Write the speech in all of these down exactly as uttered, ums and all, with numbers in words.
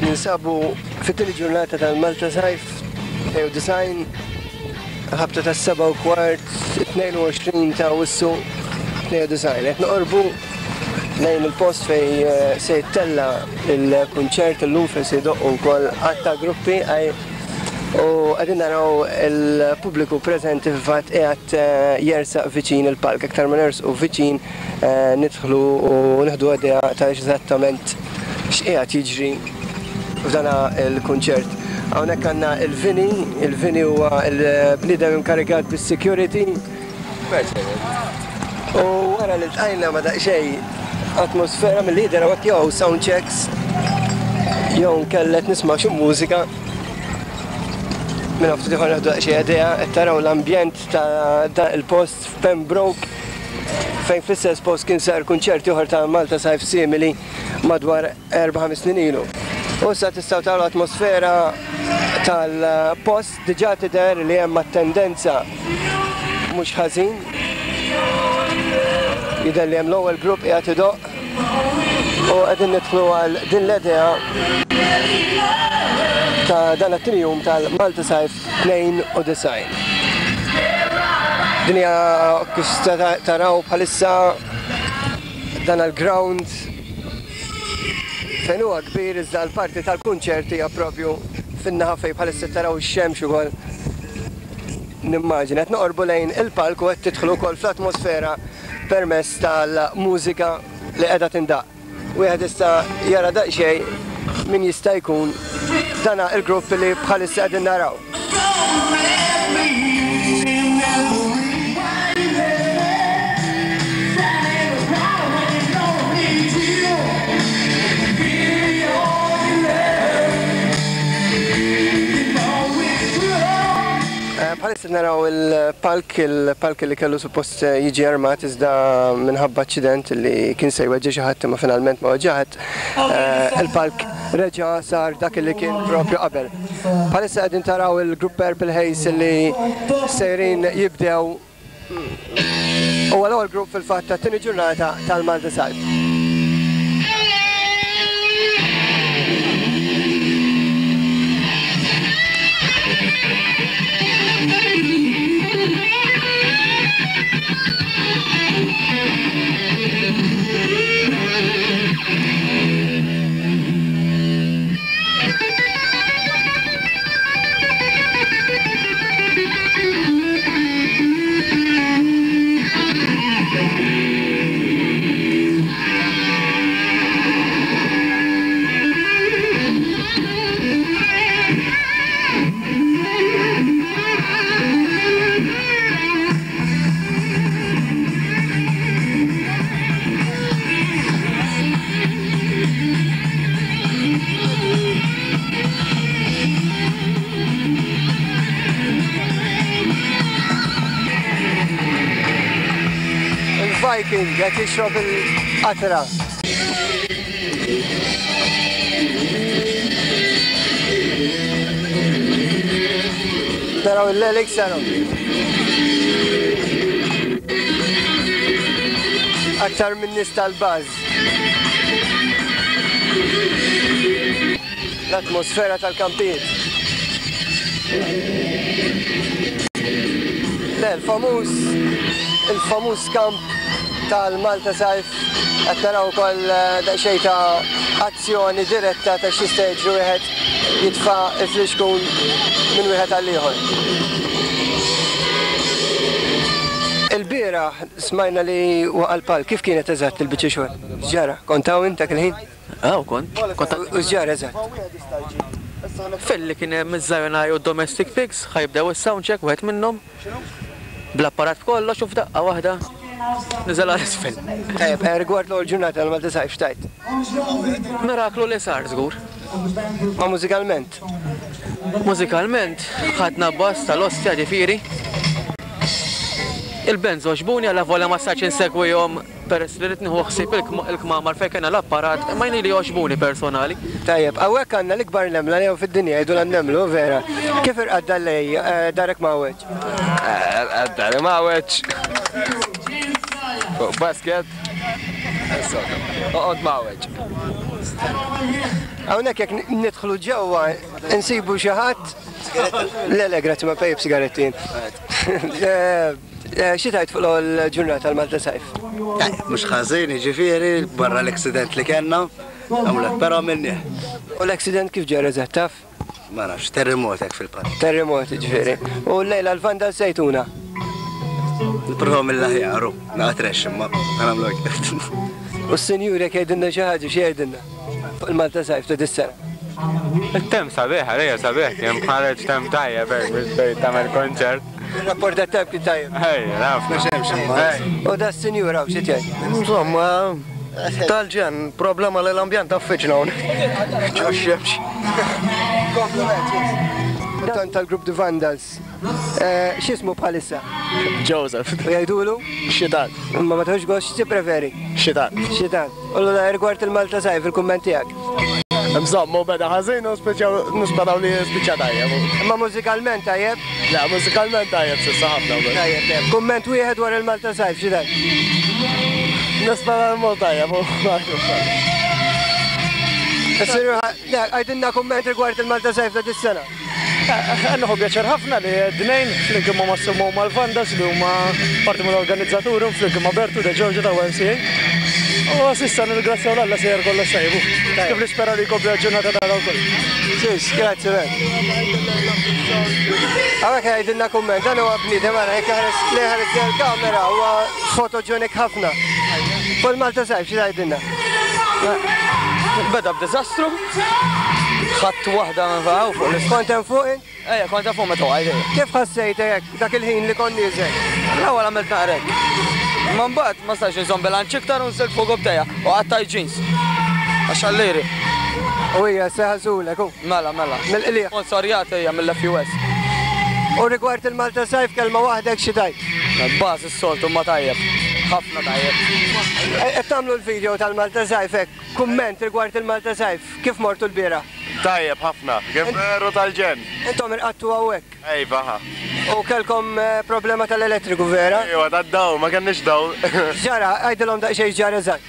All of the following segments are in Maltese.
Ninsabu fit-tieni ġurnata tal-Malta Sajf tnejn u disgħin, ħabta tas seba u kwart, tnejn u għoxrin ta' Awwissu tnejn u disgħin. Qed noqorbu lejn il-post fej eh, se jittella il-kunċert illum, fejn se jdoqqu wkoll għadd ta' gruppi għaj u qegħdin naraw il-pubbliku preżenti fil-fatt qiegħed eh, jersaq viċin il-palk. Aktar ma nersqu viċin eh, nidħlu u nieħdu idea ta' eżattament x'qiegħed jiġri f'dana il-kunċert. Hawnhekk għandna il-Vini, il-Vini huwa il-bniedem inkarigat bis-security. U wara li ltqajna ma daqsxejn atmosfera mill-lider hawnhekk, jew sound checks jew kellet nisma' xi mużika. Minn ftit ieħor nieħdu daqsxejn idea. Qed taraw l-ambjent ta' dan il-post f'Pembroke, fejn fl-istess post kien sar kunċert ieħor ta' Malta Sajf simili madwar erba' ħames snin ilu. U issa tistgħu taraw l-atmosfera tal-post, diġà tidher li hemm tendenza mhux ħażin. Jidher li hemm l-ewwel grupp qiegħed idoqq u qegħdin nidħlu għal din l-idea ta' dan it-tieni jum tal-Malta Sajf tnejn u disgħin. Din hija kif taraw bħalissa dan il-ground fejn huwa kbir, iżda l-parti tal-kunċert hija propju fin-naħa fejn bħalissa taraw ix-xemx ukoll. Nimmaġina qed noqorbu lejn il-palk u qed tidħlu wkoll fl-atmosfera permezz tal-mużika li qiegħda tindaq. Wieħed jista' jara daqsxejn min jista' jkun dana il-grupp li bħalissa qegħdin naraw. Eh, Bħalissa naraw il-palk, il-palk li kellu suppost jiġi armat, iżda minħabba aċċident li kien se jweġġa' xi ħadd, imma finalment ma weġġa' ħadd, eh, il-palk reġa' sar dak li kien propju qabel. Bħalissa qegħdin taraw il-grupp Purple Haze li sejrin jibdew, u l-ewwel grupp fil-fatt tat-tieni ġurnata tal-Malta Sajf. Il-Viking qed jixrob il-qatra. Taraw il-Lelix sanu. Aktar minn nies tal-baż. L-atmosfera tal-kampijiet. Le, il-famuż il-famuż kamp tal-Malta Sajf, qed naraw ukoll eh, daqsxejn ta' azzjoni diretta ta' x'jista' jiġri wieħed jitfa' il-flixkun minn wieħed għal ieħor. Il-bieraħ smajna li waqa' l-palk, kif kienet eżatt il-biċċa xogħol? X'ġara? Kont hawn int dak il-ħin? Aw, kont. Kont. U x'ġara eżatt? Filli kien hemm iż-Zionaj u Domestic Pigs, ħa jibdew is-sound check wieħed minnhom. Bl-apparat kollox, u f'daqqa waħda niżel għal isfel. Tajjeb, eh, rigward l-ewwel ġurnata tal-Malta Sajf, x'tgħid? Miraklu li sar żgur. Ma mużikalment? Mużikalment, ħadna bass tal-ostja, ġifieri. Il-bands għoġbuni, għalla volja ma stajtx insegwihom peress li rrid nieħu ħsieb il-kmamar fejn kena l-apparat, ma jien li għoġbuni personali. Tajjeb, hawnhekk għandna l-ikbar nemla li fid-dinja, jgħidu l-nemlu, vera. Kif irqad dal-lej, eh, darek mawweġ? Għaddari mawweġ. Fuq basket. Oqgħod mawġ. Hawnhekk jekk nidħlu ġewwa insibu xi ħadd. Le le grazzi ma pejjeb sigarettin. Xi tgħid fuq l-ġurnata tal-Malta Sajf? Mhux ħażin, jiġifieri barra l-accident li kellna, għamlet però minni. U l-accident kif ġara eżatt taf? Ma nafx, terremot hekk fil-park. Terremot ġifieri. U llejla l-Vanda Sejtuna. Nipprovaw mill-aħjar, naqatrex imma nagħmlu hekk. U s-sinjur jekk jgħidilna xi ħaġa xi jgħidilna fuq il-Malta Sajf ta' dis-sena. Il-tem sabiħ, għalija sabiħ, kien bħareġ tem tajjeb hekk biex tgħid tagħmel konċert. Il-rapport tat-temp kien tajjeb. Ej, naf. U da s-sinjur hawn xi tgħid? Insomma, tal-ġen, problema li l-ambjent affiċna hawn. Ġo xemx. Kompliment. Dan tal-grupp The Vandals. X'ismu bħalissa? Joseph. U jgħidulu? Xitan. Imma ma tħoġ gost xi preferi? Xitan. Xitan. U l rigward il-Malta Sajf il-kumment tiegħek. Insomma, beda ħażin u nisperaw li spiċċa tajjeb. Imma mużikalment tajjeb? Le, mużikalment tajjeb s'issa ħafna. Tajjeb, tajjeb. Kumment wieħed dwar il-Malta Sajf, xi tajjeb? Nisperaw mod tajjeb. Għajdilna kumment rigward il-Malta Sajf ta' dis-sena. Għannu pjaċer ħafna li d-nejn flimkien ma' Massimo mal-Vandas li huma parti mill-organizzaturi flimkien ma' Bertu De Giorgio ta' Y M C A. U s'issa nirringrazzjaw l-Alla sejjer kollox tajbu. Kif nispera li jkompli l-ġurnata tagħna wkoll. Sis, grazzi ben. Hawnhekk jgħidilna kumment, dan huwa bniedem ara jekk ħares li ħares il-kamera huwa fotoġenik ħafna. Fuq il-Malta Sajf xi tgħidilna? Beda b'diżastru. Ħadd waħda minn fuq fuq l-isfond. Kont hemm fuq int? Ejja, kont hemm fuq meta waqgħet. Kif ħassejt hekk dak il-ħin li kont nieżel? L-ewwel għamilt naqrek. Imma mbagħad ma stax inżomm bilanċ iktar u nżilt fuq bdejja u qattaj jeans. Għax għallieri. U hija seħażulek hu. Mela, mela. Mill-qliegħ. Sponsorjat hija mill-F U S. U rigward il-Malta Sajf kelma waħdek xi tajt? Baż is-soltu ma tajjeb. Ħafna tajjeb. Qed tagħmlu l-video tal-Malta Sajf hekk, kumment rigward il-Malta Sajf, kif mortu l-bieraħ? Tajjeb ħafna, kif veru tal-ġen. Intom irqattu hawnhekk. Ejva ħa. U kelkom problema tal-elettriku vera? Ejwa, tad-dawl, ma kenniex dawl. Ġara, għajdilhom daqsxejn ġara eżatt.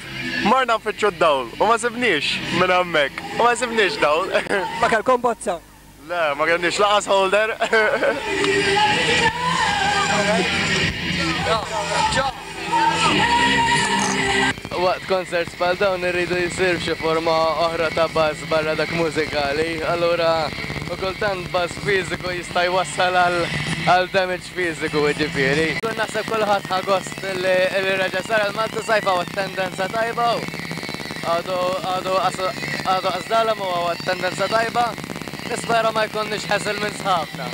Morna nfittxu d-dawl u ma sibniex minn hemmhekk. U ma sibniex dawl. Ma kelkom bozza? Le, ma kenniex laqas holder. Waqt concerts bħal dawn irridu jsir xi forma oħra ta' bass barra dak mużikali, allura u kultant bass fiżiku jista' jwassal għal damage fiżiku jiġifieri. Kun naħseb kulħadd ħa gost li reġa' sar il-Malta Sajf hawn tendenza tajba u għadu għadu għadu qasdalhom u hawn tendenza tajba. Nispera ma jkunniex ħasil minn sħabna.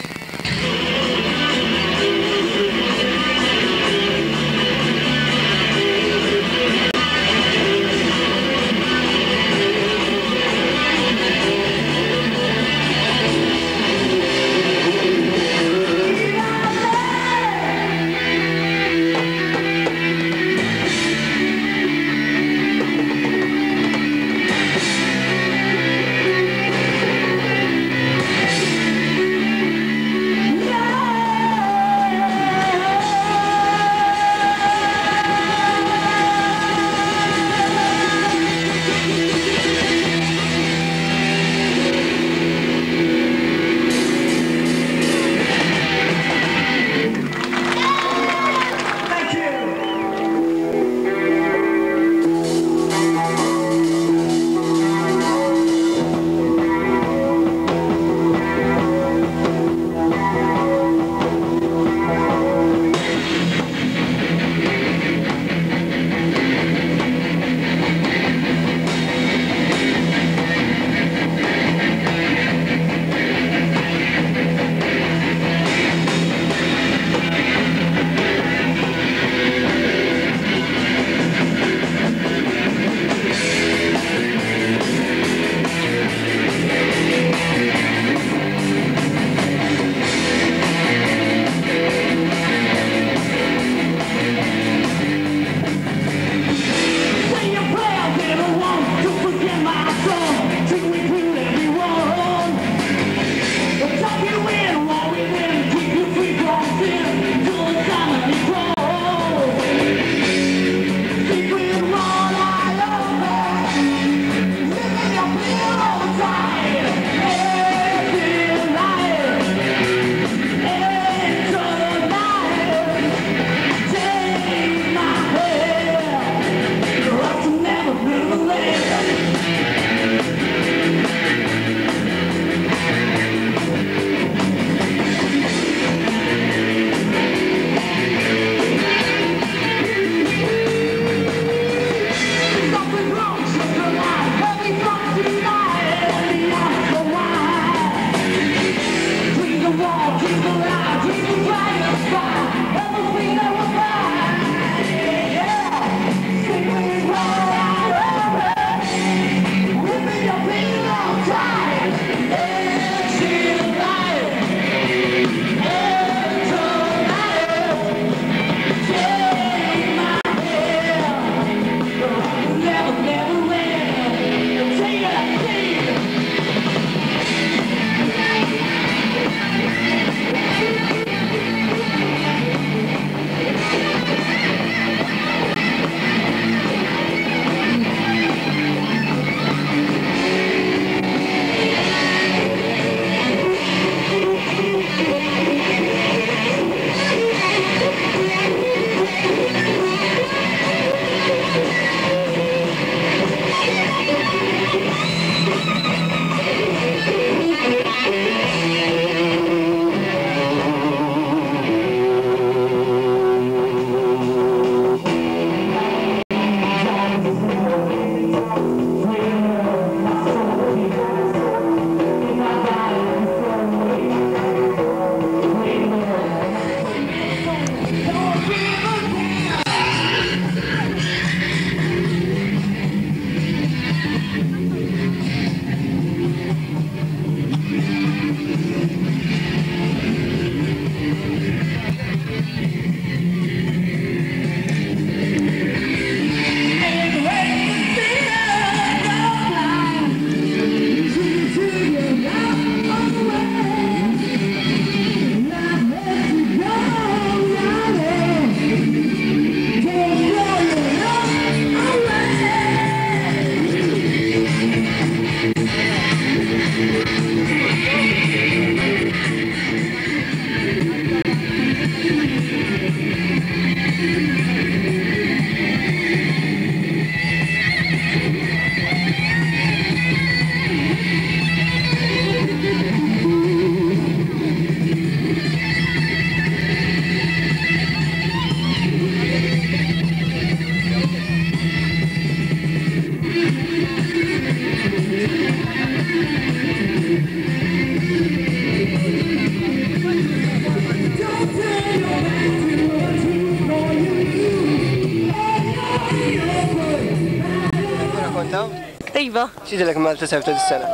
Kontaw? Iva. X'idilek Malta Sajf ta' dis-sena?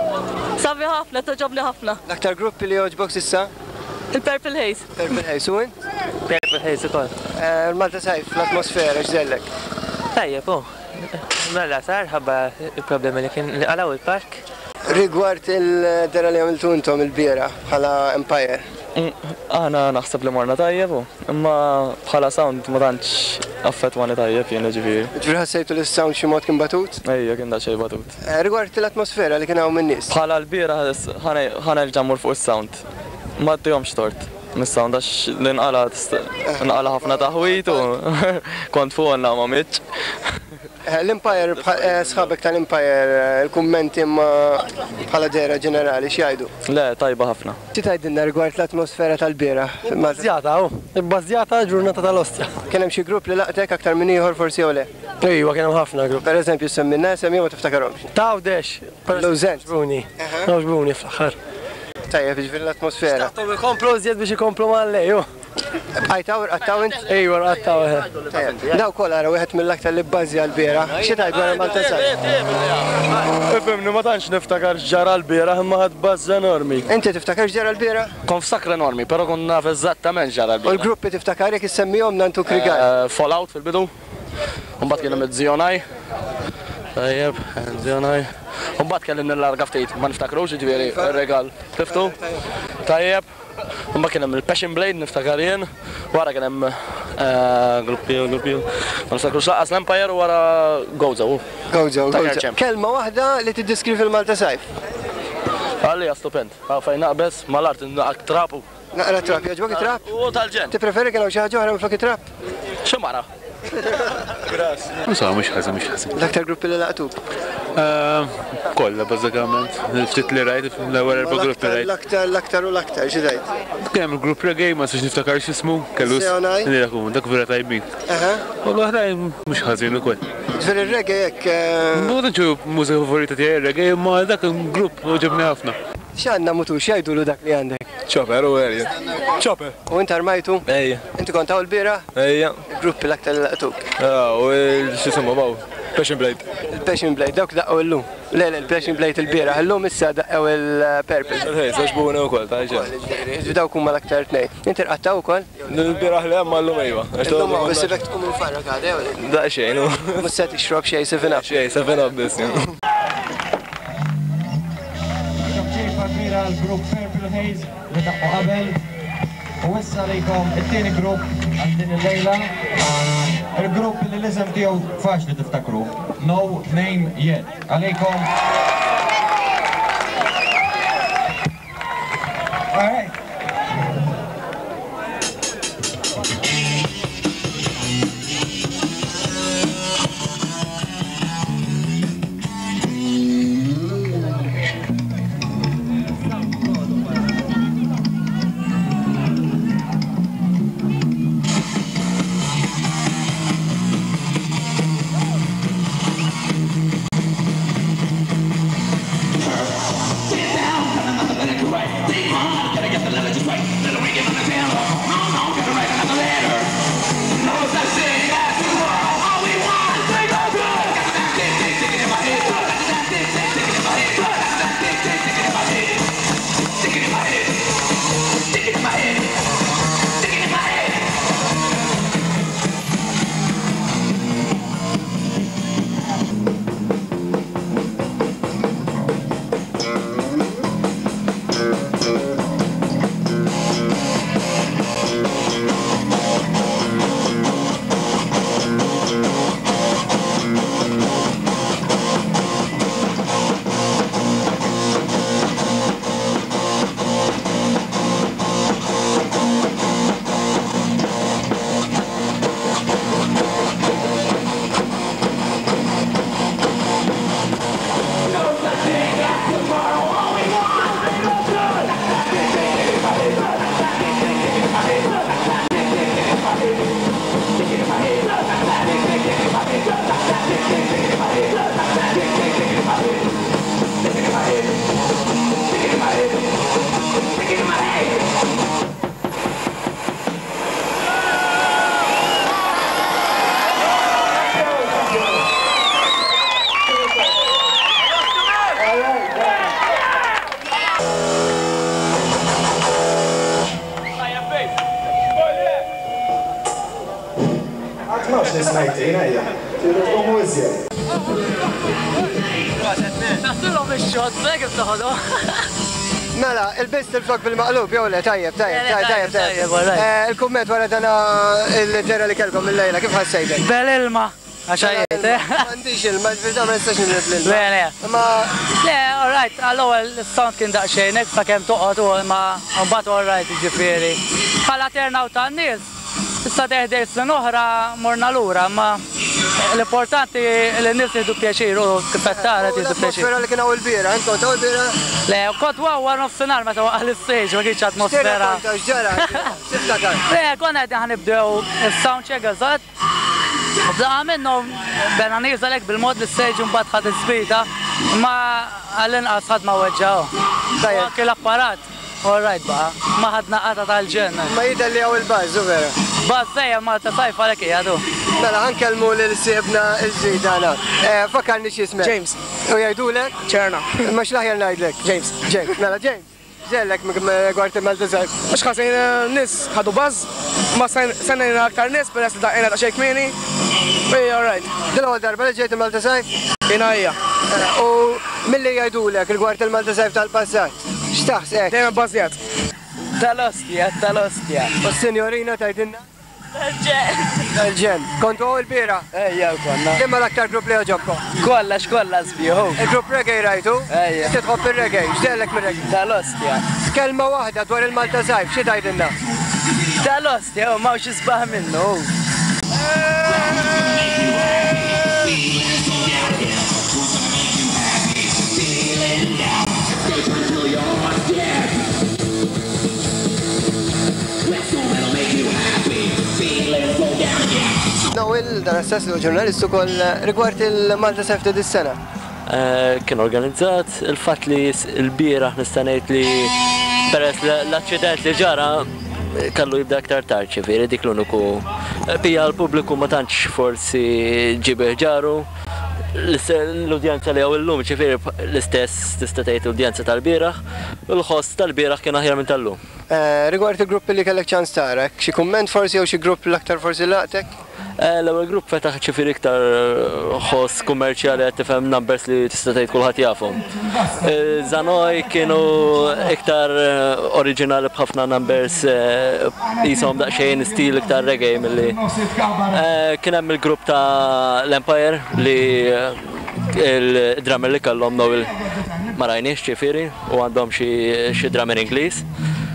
Sabi ħafna, toġobni ħafna. L-aktar gruppi li jogħġbok s'issa? Il-Purple Haze. Purple Haze, u int? Purple Haze ukoll. Malta Sajf, l-atmosfera, x'dellek? Tajjeb, u. Mela sar ħabba il-problemi li kien li qalaw il-park. Rigward il-dera li għamiltu intom il-biera bħala Empire. Aħna naħseb li morna tajjeb, imma bħala sound ma tantx affettwani tajjeb jien ġifieri. Ġifieri ħassejtu li s-sound xi mod kien batut? Ejja, kien daqsxejn batut. Rigward l-atmosfera li kien hawn min-nies. Bħala l-biera ħa nerġa' mmur fuq is-sound. Ma ttihomx tort mis-sound għax l-inqala nqala ħafna taħwit u kont fuqna ma mitx. L-Empire, sħabek tal-Empire, il-kummenti imma bħala dera ġenerali, x'jgħidu? Le, tajba ħafna. Xi tgħidilna rigward l-atmosfera tal-biera? Ibbażjata, hu. Ibbażjata ġurnata tal-ostja. Kien hemm xi grupp li laqtek aktar minn ieħor forsi jew le? Ejwa, kien hemm ħafna grupp. Per eżempju, semmilna semmi ma tiftakarhomx. Tawdex. Lawżent. Għoġbuni. Għoġbuni fl-aħħar. Tajjeb, jiġifieri l-atmosfera. Xtaqthom ikomplu iżjed biex ikomplu mal-lej, hu. Bqajtaw, rqattaw int? Ejwa, rqattaw. Daw kollha ara wieħed mill-aktar li bbażja l-biera. Xi tgħid wara Malta Sajf? Ifhimni, ma tantx niftakar x'ġara l-bieraħ imma ħadd buzz enormi. Inti tiftakar x'ġara l-biera? Kont f'sakra enormi, però kont naf eżattament x'ġara l-bieraħ. U l-gruppi tiftakar jekk issemmihom nantuk rigal? Fallout fil-bidu. Mbagħad kien hemm iż-Zionaj. Tajjeb, Zionaj. Mbagħad kelli nillarga ftit, ma niftakrux jiġifieri r-regal. Tiftu? Tajjeb. Mbagħad kien hemm il-Passion Blade niftakar jien, wara kien hemm gruppi gruppi ma niftakrux lanqas l-Empire u wara Gozo. Gozo, Gozo. Kelma waħda li tiddeskrivi l-Malta Sajf. Għalija stupend. Fejn naqbeż mal-art naqra trapu. Naqra trap, jogħġbok it-trap? U tal-ġenn. Tippreferi kien hawn xi ħaġa oħra minflok it-trap? Xi mara? Insomma, mhux ħażin, mhux ħażin. L-aktar gruppi li laqtuk? Kollha bażikament. Ftit li rajt, l-ewwel erba' gruppi rajt. L-aktar, l-aktar u l-aktar, xi tgħid? Kien hemm il-grupp reggae, ma nistax niftakar x'ismu, kellu dak vera tajbin. U l-oħrajn mhux ħażin ukoll. Ġifieri r-reggae hekk. Ma tantx hu mużika favorita tiegħi r-reggae, imma dak il-grupp għoġobni ħafna. X'għandna mutu, x'jgħidulu dak li għandek? Chopper u Elliot. Chopper. U int armajtu? Ejja. Inti kont hawn l-biera? Ejja. Il-gruppi l-aktar li laqtuk? Ah, u x'ismu baw. Passion Blade. Il-Passion Blade, dawk daqqew illum. Le, le, il-Passion Blade il-bieraħ, illum issa daqqew il-Purple. Ej, għoġbuna wkoll, tajġa. Dawk huma l-aktar tnejn. Inti rqattaw ukoll? Il-bieraħ li hemm llum ejwa. Illum hawn biss ibek tkun infarrak għadha jew le? Daqsxejn. Mhux se tixrob xejn seven up. Xejn, seven up biss. Kbira għal-grupp Purple Haze li daqqu qabel u issa lejkom it-tieni grupp għal din il-lejla, il-grupp li l-isem tiegħu faċli tiftakru, No Name Yet. Għalejkom. All right. Get down, gotta get the Nasilhom ix-xogħol, kif toħodhom. Mela, il-bist il-flok bil-maqlub, jew le, tajjeb, tajjeb, tajjeb, tajjeb. Il-kumment wara dana il-ġera li kellkom il-lejla, kif ħassejtek? Bel-ilma, għaxajiet, eh? M'għandix ilma, ġifieri ma nistax nilib l-ilma. Le, le. Ma. Le, all right, għall-ewwel is-sound kien daqsxejn hekk sakemm toqgħod u ma mbagħad all right, jiġifieri. Bħala turnout tan-nies, issa teħdej snin oħra morna lura, ma l-importanti li n-nies jieħdu pjaċir u kif qed tara jieħdu pjaċir. L-atmosfera li kien hawn il-bieraħ, int kont hawn il-bieraħ? Le, kont hawn wara nofsinhar meta waqa' l-istage, ma kienx atmosfera. X'ġara? X'tiftakar? Le, konna qegħdin ħanibdew is-sound check eżatt. U bdaqa minnhom bena nieżel hekk bil-mod l-istage u mbagħad ħadd ispita, imma għall-inqas ħadd ma weġġaw. U anke l-apparat. All right, baqa, ma ħadna qata tal-ġen. Ma jidher li hawn il-buzz, u vera. Buzz dejjem Malta Sajf għalhekk qiegħdu. Mela, ħankellmu lil siebna l-ġdid tagħna. Fakkarni x'ismek. James. U jgħidulek? Ċerna. Ma x'l-aħjar ngħidlek? James. James, mela James. Ġellek rigward il-Malta Sajf. Mhux ħażin nies ħadu buzz, ma sennejna aktar nies peress li daqqejna daqsxejn kmieni. Ej, all right. Din l-ewwel darba li ġejt il-Malta Sajf? Jiena hija. U milli jgħidulek rigward il-Malta Sajf tal-passat? X'taħseb? Dejjem bbażjat. Tal-ostja, tal-ostja. U s-sinjorina tgħidilna? Tal-ġen. Tal-ġen. Kontu hawn il-bieraħ? Ejja, konna. Liema l-aktar grupp li għoġobkom? Kollha, x'kollha sbieħu. Il-grupp reggae rajtu? Ejja. Inti tħobb ir-reggae, x'dellek mir-reggae? Tal-ostja. Kelma waħda dwar il-Malta Sajf, xi tgħidilna? Tal-ostja, u m'hawnx isbaħ minnu. Noel, dan assess li ġurnalist ukoll rigward il-Malta Sajf ta' dis-sena. Kien organizzat, il-fatt li l-bieraħ nista' ngħid li peress l-aċċident li ġara kellu jibda aktar tard, ġifieri dik l-uniku. Pija l-pubbliku ma tantx forsi ġibeħ ġaru. L-udjenza li hawn illum, ġifieri l-istess tista' tgħid l-udjenza tal-bieraħ, u l-ħoss tal-bieraħ kien aħjar minn tal-lum. Rigward il-gruppi li kellek ċans tara, xi kumment forsi jew xi grupp l-aktar forsi laqtek? L-ewwel grupp fetaħ ġifieri iktar ħoss kummerċjali qed tifhem numbers li tista' tgħid kulħadd jafhom. Zanoj kienu iktar oriġinali b'ħafna numbers qishom daqsxejn stil iktar reggae milli. Kien hemm il-grupp ta' l-Empire li il-drummer li kellhom Noel ma rajniex ġifieri u għandhom xi drummer Ingliż.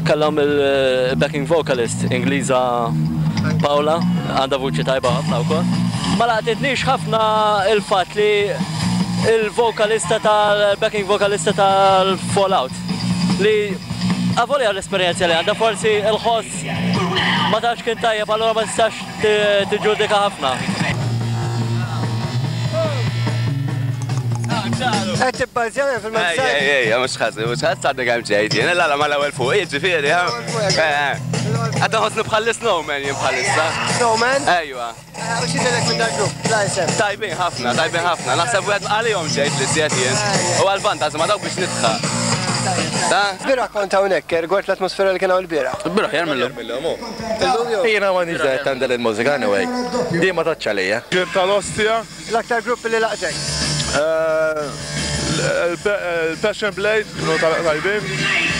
Kellhom il-backing vocalist Ingliża Paola, għandha vuċi tajba ħafna wkoll. Ma laqtitnix ħafna il-fatt li il-vokalista tal-backing vokalista tal-Fallout li avolja l-esperjenza li għandha forsi il-ħoss ma tantx kien tajjeb, allura ma tistax tiġġudika ħafna. Qed tibbażja fil-Malta Sajf? Ej, ej, mhux ħażin, mhux ħażin għadni kemm ġejt jien, la mal-ewwel fuq, jiġifieri, Għadda ħossni bħal snowman jien bħalissa. Snowman? Ejwa. U xi tilek minn dal-grupp? La isem. Tajbin ħafna, tajbin ħafna. Naħseb wieħed għalihom ġejt li żjed jien. U għall-banda ma dawk biex nidħaq. Bieraħ kont hawnhekk, rigward l-atmosfera li kien hawn il-bieraħ. Il-bieraħ jar mill-lum. Jiena m'għandix da' tandel il-mużika anyway. Di ma taċċ għalija. Kien tal-ostja. L-aktar grupp li laqtek? Il-Passion Blade, kienu tajbin.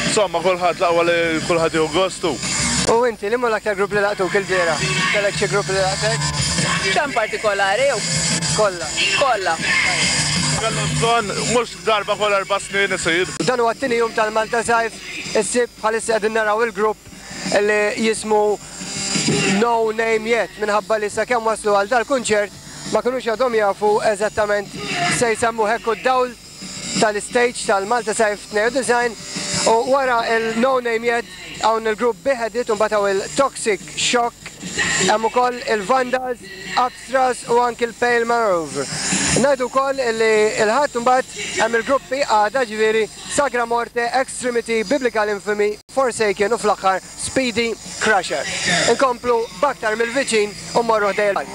Insomma, kulħadd l-aqwa li kulħadd jieħu gostu. U inti, li l-aktar grupp li laqtuk il-bieraħ? Kellek xi grupp li laqtek? X'hemm partikolari jew? Kollha. Kollha. Kellu bżonn mhux darba kull erba' snin isir. Dan huwa t-tieni jum tal-Malta Sajf, is-Sibt bħalissa qegħdin naraw il-grupp li jismu No Name Yet minħabba li sakemm waslu għal dal-kunċert ma kinux għadhom jafu eżattament se jsemmu hekk u d-dawl tal-stage tal-Malta Sajf tnejn u disgħin u wara il-No Name Yet hawn il-grupp Beheaded u mbagħad hawn il-Toxic Shock, hemm ukoll il-Vandals, Abstras u anki il-Pale Maneuver. Ngħidu wkoll li il-ħadd imbagħad hemm il-gruppi għada ġifieri Sagra Morte, Extremity, Biblical Infamy, Forsaken u fl-aħħar Speedy Crusher. Inkomplu b'aktar mill-viċin u mmorru ħdej il-park.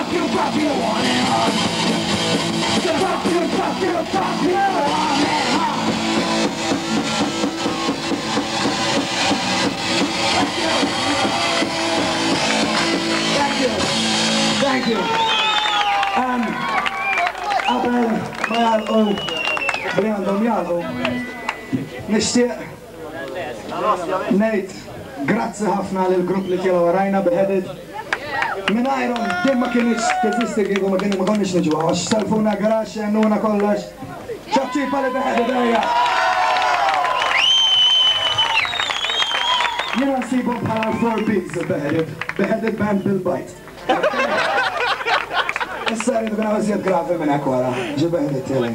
pop you, pop you on and on. Gonna pop you, pop you, pop you on and on. Thank you. Thank you. Thank you. Um, qabel ma jagħlqu li għandhom jagħlqu, nixtieq ngħid grazzi ħafna lill-grupp li tiegħu warajna Beheaded. Mingħajrhom din ma kienx teżisti kieku ma kienu ma konniex niġu għax selfuna garaxx għennuna kollox. ċabċipa li Beheaded ejja. Jiena nsibhom bħala l-four B's il-Beheaded. Beheaded Band bil-bajt. Issa rridu kien hawn iżjed gravi minn hekk wara, ġi Beheaded tiegħi.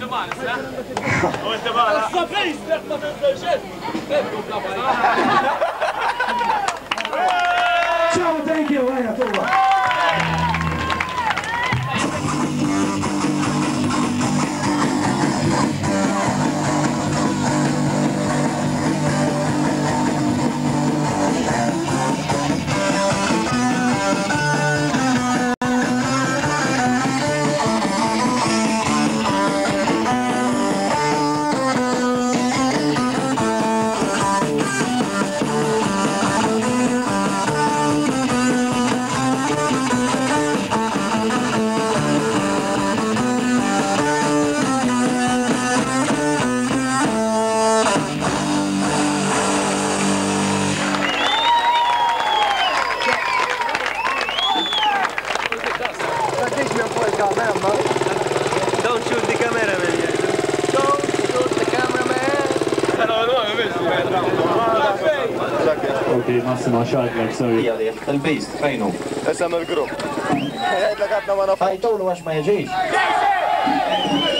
Ciao, thank you, ejja tuwa. Don't shoot the cameraman. Don't shoot the cameraman. Ok, Massimo xadlek, sorry. Il-Beast, fejnu? Isem il-grupp. Għedlek għadna ma nafux. Ħajtulu għax ma jiġix.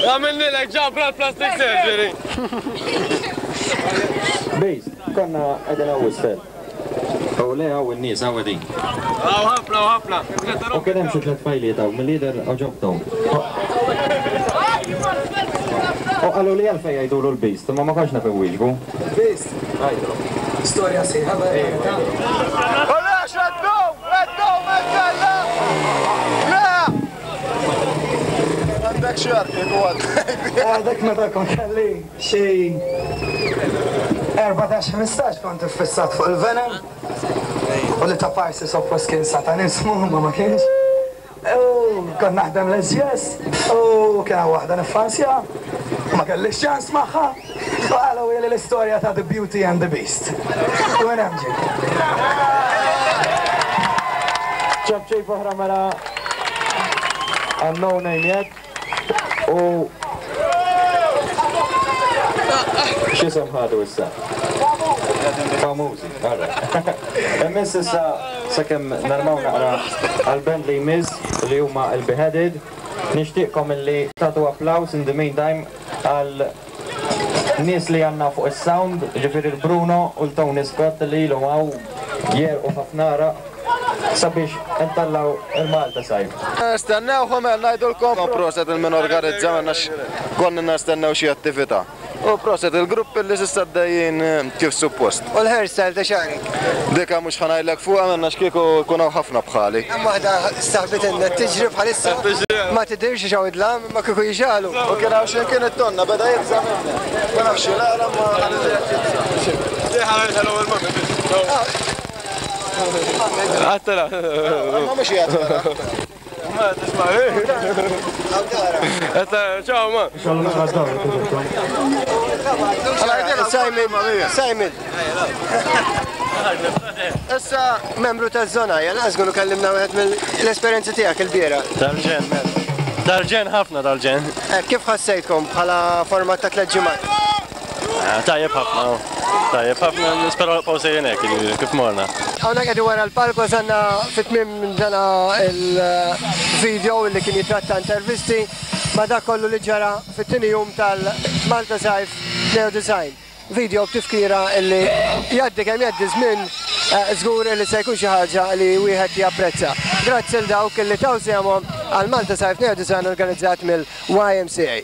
Għamilni l ġabra l-plastic surgery. Beast, konna għedin għaw isfel. U le għaw il-nies għaw għedin. Għaw ħafna, għaw ħafna. U kien hemm xi tliet fajliet hawn mill-lider għoġobthom. U qalu li għalfejn jgħidulu l-Beast, imma ma kontx naf iwieġbu. Beast? Storja sħiħa vera. Għalax, għaddu, għaddu, għaddu, le! Għandek xar kieku għaddej. Għadek meta kont kelli xi erbatax ħmistax kont iffissat fuq il-Venom. U li ta' parsi suppost kien satanismu, ma ma kienx. U kont naħdem l-S G S, u kien hawn waħda niffansja, u ma kellix ċans magħha. U qalu li l-istorja ta' The Beauty and the Beast. U minn hemm ġie. ċabċib oħra mela għal No Name Yet u x'isem ħadu issa? Famużi, għarra. Immiss issa sakemm narmaw naqra għal-band li jmiss li huma il-Beheaded. Nixtieqkom illi tagħtu applaus in the meantime għal nies li għandna fuq is-sound, ġifieri il-Bruno u l-Tony Scott li ilhom hawn jerqu ħafna għaraq sabiex intallaw il-Malta Sajf. Stennew ħomel ngħidulkom proset il-min organizza għax konna nistennew xi attività. U proset il-grupp li s'issa għaddejjin kif suppost. U l-hairstyle ta' xagħrek? Dika mhux ħa ngħidlek fuqha minna x'kieku jkun hawn ħafna bħali. Hemm waħda saħbitinna tiġri bħalissa ma tidirx xaw id-dlam imma kieku jixalu. U kien hawn xi kien it-tonna beda jibża' minna. Ma nafx l-għala ma Għattela. Ma mhux jgħid. Ma tisma'. Ciao ma. Simon, Simon. Issa membru taż-żona, jalla żguru kellimna wieħed mill-esperjenzi tiegħek il-biera. Tal-ġen, tal-ġen ħafna tal-ġen. Kif ħassejtkom bħala format ta' tliet ġimgħat? Tajjeb ħafna, tajjeb ħafna, nisperaw nibqgħu sejrin hekk kif morna. Hawnhekk qegħdin wara l-palk wasalna fit-tmiem dana il-video li kien jitratta intervisti ma' dak kollu li ġara fit-tieni jum tal-Malta Sajf Neo Design. Video b'tifkira illi jgħaddi kemm jgħaddi żmien żgur li se jkun xi ħaġa li wieħed japprezza. Grazzi l dawk li taw sehemhom għal Malta Sajf Neo Design organizzat mill-Y M C A.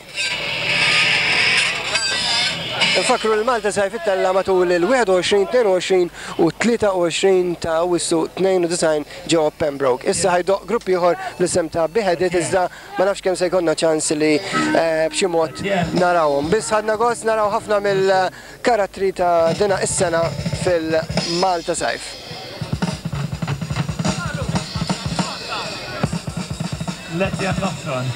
Nfakru l-Malta Sajf ittella matul il-wieħed u għoxrin, tnejn u għoxrin u tlieta u għoxrin ta' Awwissu tnejn u disgħin ġewwa Pembroke. Issa ħajdoq grupp ieħor bl-isem ta' Beheaded, iżda ma nafx kemm se jkollna ċans li b'xi mod narawhom. Biss ħadna gost naraw ħafna mill-karattri ta' dina is-sena fil-Malta Sajf. Let's get lost on.